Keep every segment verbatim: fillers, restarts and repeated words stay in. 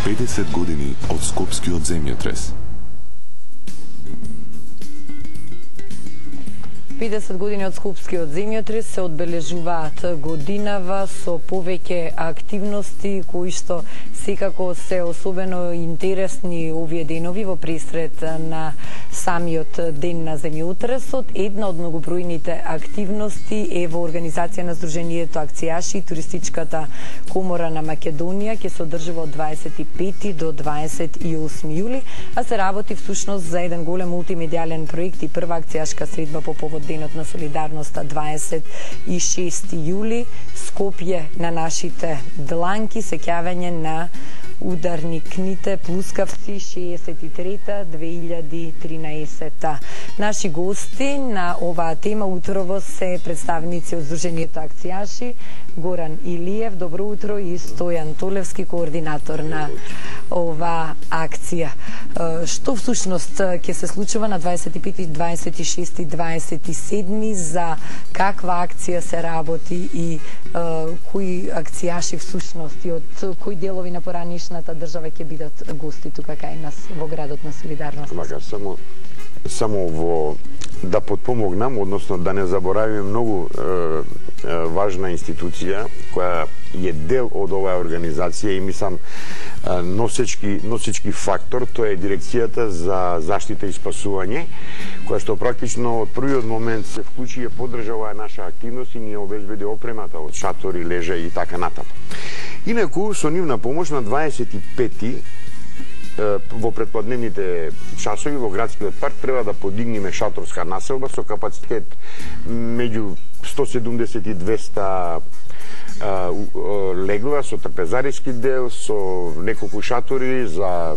педесет години од Скопскиот земјотрес. педесет години од Скопскиот земјотрес се одбележуваат годинава со повеќе активности кои што секако се особено интересни овие денови во пресред на самиот ден на земјотресот. Една од многобројните активности е во организација на Сдруженијето акцијаши и Туристичката комора на Македонија, ќе се одржува од дваесет и пети до дваесет и осми јули, а се работи всушност за еден голем мултимедијален проект и прва акцијашка средба по повод Денот на солидарноста дваесет и шести јули, Скопје на нашите дланки, сеќавање на ударникните плускавци шеесет и трета две илјади тринаесета. Наши гости на оваа тема утрово се представници од Сдруженијето акцијаши, Горан Илиев, добро утро, и Стојан Толевски, координатор на оваа акција. Што всушност ќе се случува на дваесет и пети, дваесет и шести, дваесет и седми, за каква акција се работи и кои акцијаши всушност и од кои делови на поранишната држава ќе бидат гости тука кај нас во градот на солидарност? Мага, само само во да потпомогнам, односно да не заборавиме многу е, е, важна институција која е дел од оваа организација и мислам носечки носечки фактор, тоа е дирекцијата за заштита и спасување, која што практично од првиот момент се вклучи и поддржа оваа наша активност и ни обезбеди опремата од шатори, лежа и така натаму. Инаку со нивна помош на дваесет и пети во предпладневните часови во градскиот парк треба да подигнеме шаторска населба со капацитет меѓу сто седумдесет и двеста легла, со трпезариски дел, со неколку шатори за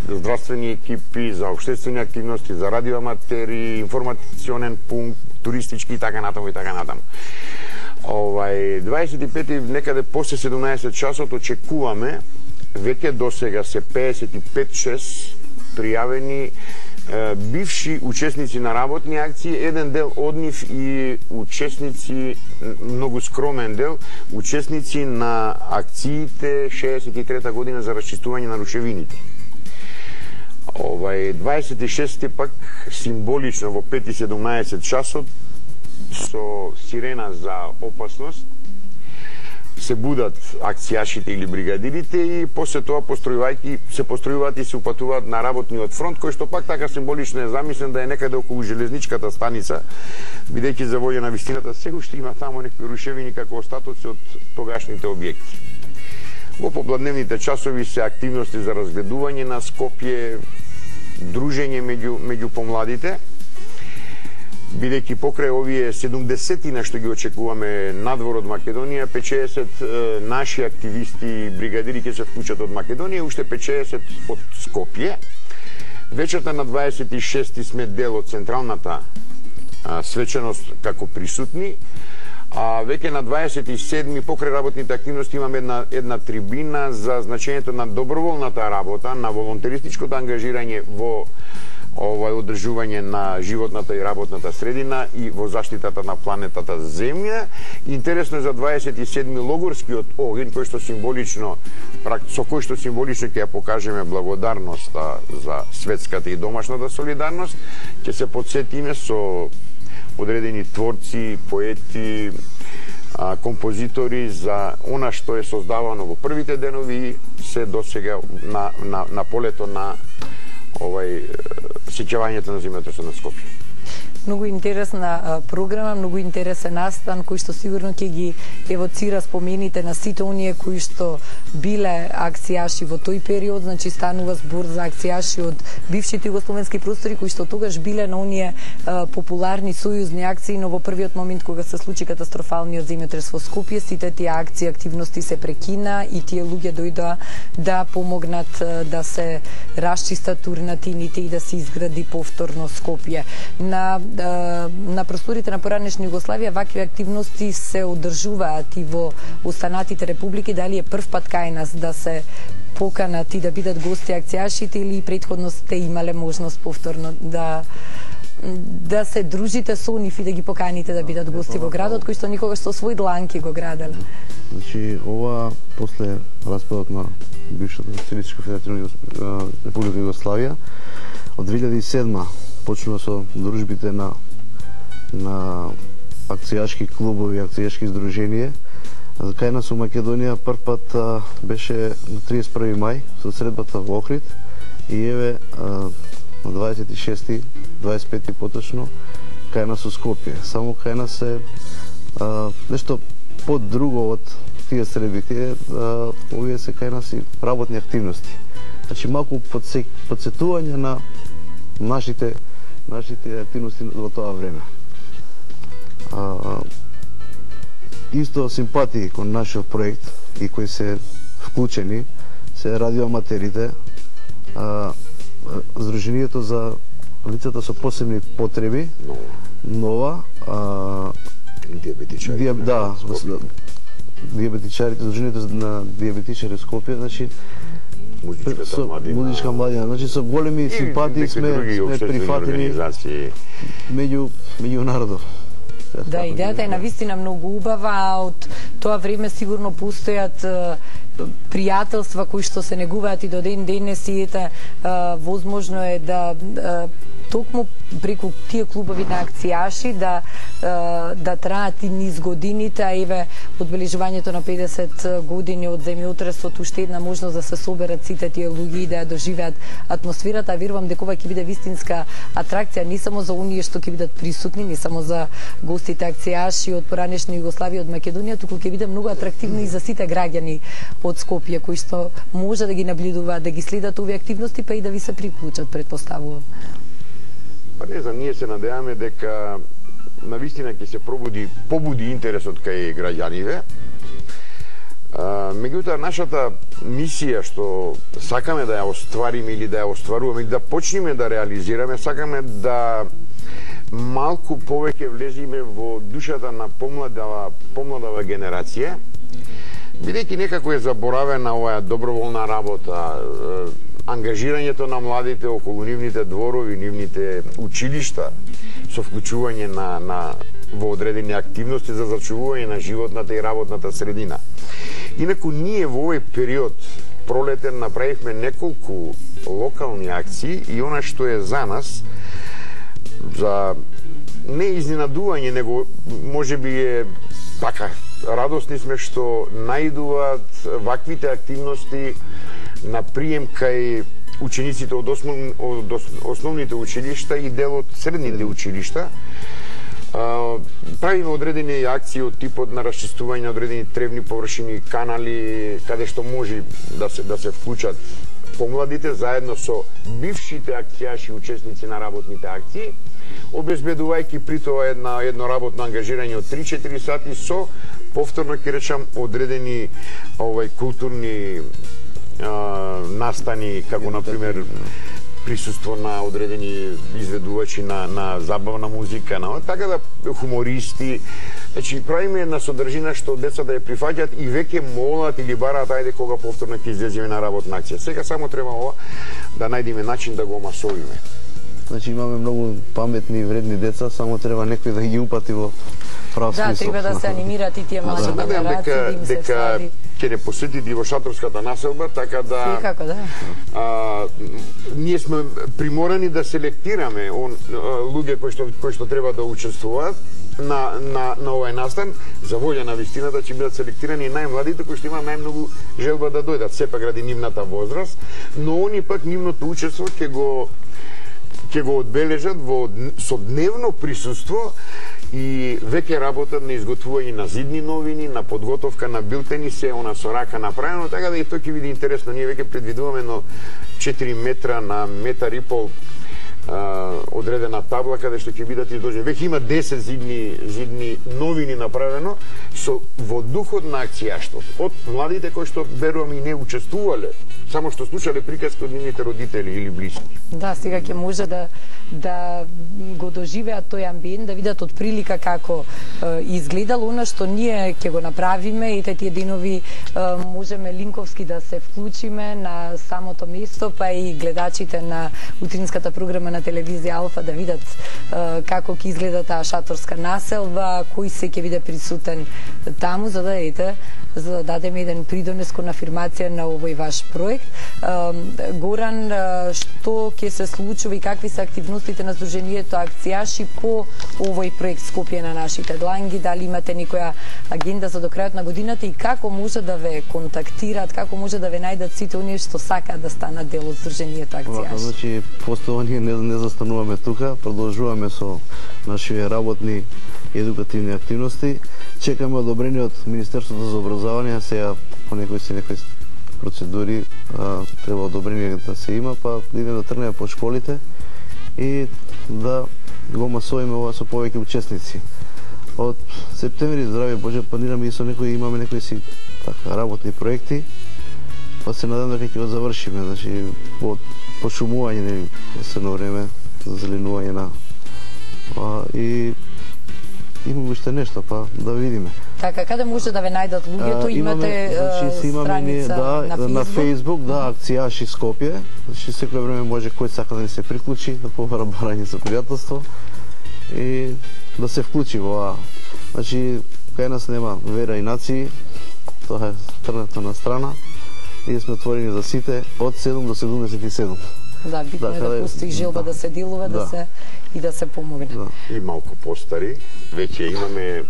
здравствени екипи, за општествени активности, за радиоаматери, информационен пункт, туристички и така натаму и така натаму. Овај дваесет и пети некаде после седумнаесет часот очекуваме, веќе досега се пеесет и пет шест пријавени е, бивши учесници на работни акции, еден дел од нив и учесници, многу скромен дел, учесници на акциите шеесет и трета година за расчистување на рушевините. Овај дваесет и шести пак символично во пет и седумнаесет часот со сирена за опасност се будат акцијашите или бригадирите и после тоа постројувајќи се постројуваат и се упатуваат на работниот фронт, кој што пак така символично е замислен да е некаде околу железничката станица, бидејќи за волја на вистината се уште има таму некои рушевини како остатоци од тогашните објекти. Во попладневните часови се активности за разгледување на Скопје, дружење меѓу меѓу помладите, бидејќи покрај овие седумдесетина што ги очекуваме надвор од Македонија, петчеесет наши активисти и бригадири ќе се вклучат од Македонија, уште петчеесет од Скопје. Вечерта на дваесет и шести сме дел од централната а, свеченост како присутни, а веќе на дваесет и седми покрај работните активности имаме една една трибина за значењето на доброволната работа, на волонтеристичкото ангажирање во овај одржување на животната и работната средина и во заштитата на планетата Земја. Интересно е за дваесет и седми логорскиот огин, кој што символично, со кој што символично ќе ја покажеме благодарноста за светската и домашната солидарност, ќе се потсетиме со одредени творци, поети, композитори за она што е создавано во првите денови и се досега на, на, на полето на овај сеќавањето на земјотресот на Скопје. Многу интересна програма, многу интересен настан кој што сигурно ќе ги евоцира спомените на сите оние кои што биле акцијаши во тој период, значи станува збор за акцијаши од бившите југословенски простори кои што тогаш биле на оние а, популарни сојузни акции, но во првиот момент кога се случи катастрофалниот земјотрес во Скопје, сите тие акции, активности се прекина и тие луѓе дојдоа да помогнат а, да се расчистат урнатините и да се изгради повторно Скопје. На на просторите на поранешна Југославија вакви активности се одржуваат и во останатите републики. Дали е прв пат кај нас да се поканат и да бидат гости акцијашите или претходно сте имале можност повторно да да се дружите со нив и да ги поканите да бидат гости во градот, кои што никогаш со свој дланки го граделе. Значи, ова после распадот на бившата Социјалистичка федеративна Република Југославија, од две илјади и седма почнува со дружбите на на акцијашки клубови, акцијашки издруженија. Кај нас во Македонија прв пат а, беше на триесет и први мај со средбата во Охрид и еве а, на дваесет и шести, дваесет и пети поточно кај нас во Скопје. Само кај нас е а, нешто подруго од тие средби. Тие а, овие се кај нас и работни активности. Значи малку подсек, подсетување на нашите нашите активности во тоа време. А, исто симпатии кон нашиот проект и кои се вклучени се радиоаматерите, а, Здруженијето за лицата со посебни потреби, нова, а, диабетичари. Диаб, да, диабетичарите, Здруженијето на диабетичари Скопје, значи музичката младина, музичка младина, значи со големи симпатии сме сме прифатени меѓу меѓу народот. Да, идејата е навистина многу убава, а од тоа време сигурно постојат пријателства кои што се негуваат и до ден денес и ета возможно е да токму преку тие клубови на акцијаши да да траат и низ годините, а еве одбележувањето на педесет години од земјотресот уште една можност да се соберат сите тие луѓе и да ја доживеат атмосферата. Верувам дека ова ќе биде вистинска атракција не само за оние што ќе бидат присутни, не само за гостите акцијаши од поранешна Југославија, од Македонија, туку ќе биде многу атрактивно и за сите граѓани од Скопје кои што може да ги наблюдуваат, да ги следат овие активности, па и да ви се приклучат, претпоставувам. Па не знам, ние се надеваме дека навистина ќе се пробуди, побуди интересот кај граѓаните. Меѓутоа, нашата мисија што сакаме да ја оствариме или да ја остваруваме или да почнеме да реализираме, сакаме да малку повеќе влезиме во душата на помладава, помладава генерација, бидејќи некако е заборавена оваа доброволна работа, ангажирањето на младите околу нивните дворови, нивните училишта, со вклучување на, на во одредени активности за зачувување на животната и работната средина. Инаку ние во овој период пролетен направивме неколку локални акции и она што е за нас, за не изненадување, него можеби е така, радосни сме што наидуваат ваквите активности на прием кај учениците од, основ, од основните училишта и дел од средните училишта. Правиме одредени акции од типот на расчистување на одредени тревни површини, канали, каде што може да се да се вклучат помладите заедно со бившите акцијаши учесници на работните акции, обезбедувајќи при тоа една едно работно ангажирање од три-четири сати со повторно ќе речам одредени овај културни а, настани, како на пример присуство на одредени изведувачи на на забавна музика, на така да хумористи. Значи правиме една содржина што децата ја прифаќаат и веќе молат или бараат ајде кога повторно ќе излеземе на работна акција. Сега само треба ова да најдеме начин да го масовиме. Значи имаме многу паметни и вредни деца, само треба некој да ги упати во прав смисол. Да, треба да се анимираат и тие млади да, генерации, да им се дека стави. Ќе не посетите и во шаторската населба, така да Секако, да. А, ние сме приморани да селектираме он луѓе кои што кои што треба да учествуваат на на на овој настан. За волја на вистината ќе бидат селектирани и најмладите кои што имаат најмногу желба да дојдат. Сепак ради нивната возраст, но они пак нивното учество ќе го ќе го одбележат во со дневно присуство и веќе работат на изготвување на зидни новини, на подготовка на билтени, се она со рака направено, така да и тоа ќе биде интересно. Ние веќе предвидуваме на четири метра на метар и пол а, одредена табла каде што ќе бидат изложени. Веќе има десет зидни зидни новини направено со во духот на акцијаштот од младите кои што верувам и не учествувале само што слушале приказки од нивните родители или блиски. Да, сега ќе може да да го доживеат тој амбиент, да видат од прилика како е, изгледало она што ние ќе го направиме и тие денови е, можеме линковски да се вклучиме на самото место, па и гледачите на утринската програма на телевизија Алфа да видат е, како ќе изгледа таа шаторска населба, кој се ќе биде присутен таму, за да ете за да дадеме еден придонес кон афирмација на овој ваш проект. Горан, што ќе се случува и какви се активностите на Сдруженијето акцијаши по овој проект Скопје на нашите дланги? Дали имате некоја агенда за до крајот на годината и како може да ве контактираат, како може да ве најдат сите оние што сакаат да станат дел од Сдруженијето акцијаши? Значи, постојано ние не, не застануваме тука, продолжуваме со нашите работни едукативни активности. Чекаме одобрение од Министерството за образование, сега по некои се некои процедури а, треба одобрение да се има, па да идеме да тргнеме по школите и да го масовиме ова со повеќе учесници. Од септември, здраве Боже, планираме и со некои имаме некои си така работни проекти, па се надам дека ќе го завршиме, значи од пошумување на есенно време, зеленување на а, и имаме уште нешто, па да видиме. Така, каде може да ве најдат луѓето? Имате значи, имаме страница да, на Facebook? На Facebook, да, акцијаши Скопје. Значи, секој време може кој сака да ни се приклучи, да побара барање за пријателство и да се вклучи во ова. Значи, кај нас нема вера и нации, тоа е трнато на страна. Ние сме отворени за сите од седум до седумдесет и седум. Да, битно е да, да постои желба да, да се делува, да, да се и да се помогне. Да. И малку постари, веќе имаме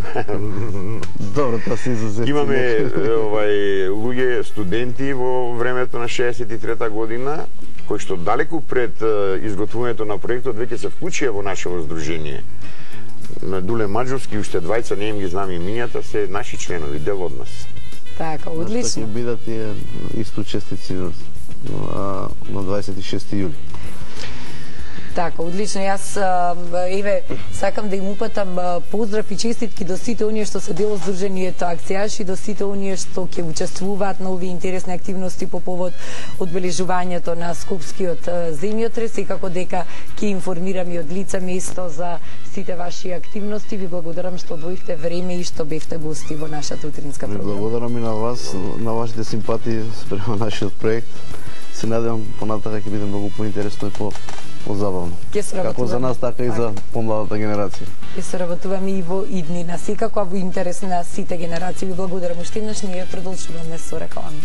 Добро, тоа се изузети. Имаме овај луѓе студенти во времето на шеесет и трета година кои што далеку пред изготвувањето на проектот веќе се вклучија во нашето здружение. На Дуле Маџовски уште двајца, не им ги знам имињата, се наши членови, дел од нас. Така, одлично. Ќе бидат тие исто учесници на дваесет и шести јули. Така, одлично. Јас еве сакам да им упатам поздрав и честитки до сите оние што се дел од Сдруженијето акцијаши, до сите оние што ќе учествуваат на овие интересни активности по повод одбележувањето на Скопскиот земјотрес и како дека ќе информирам и од лице место за сите ваши активности. Ви благодарам што одвоивте време и што бевте гости во нашата утринска програма. Благодарам и на вас, на вашите симпатии спрема нашиот проект. Се надевам понатака ќе биде многу поинтересно и по позабавно. Како за нас, така и за помладата генерација. Ќе соработуваме и во иднина, секако во интерес на сите генерации. Ви благодарам уште еднаш, ние продолжуваме со реклами.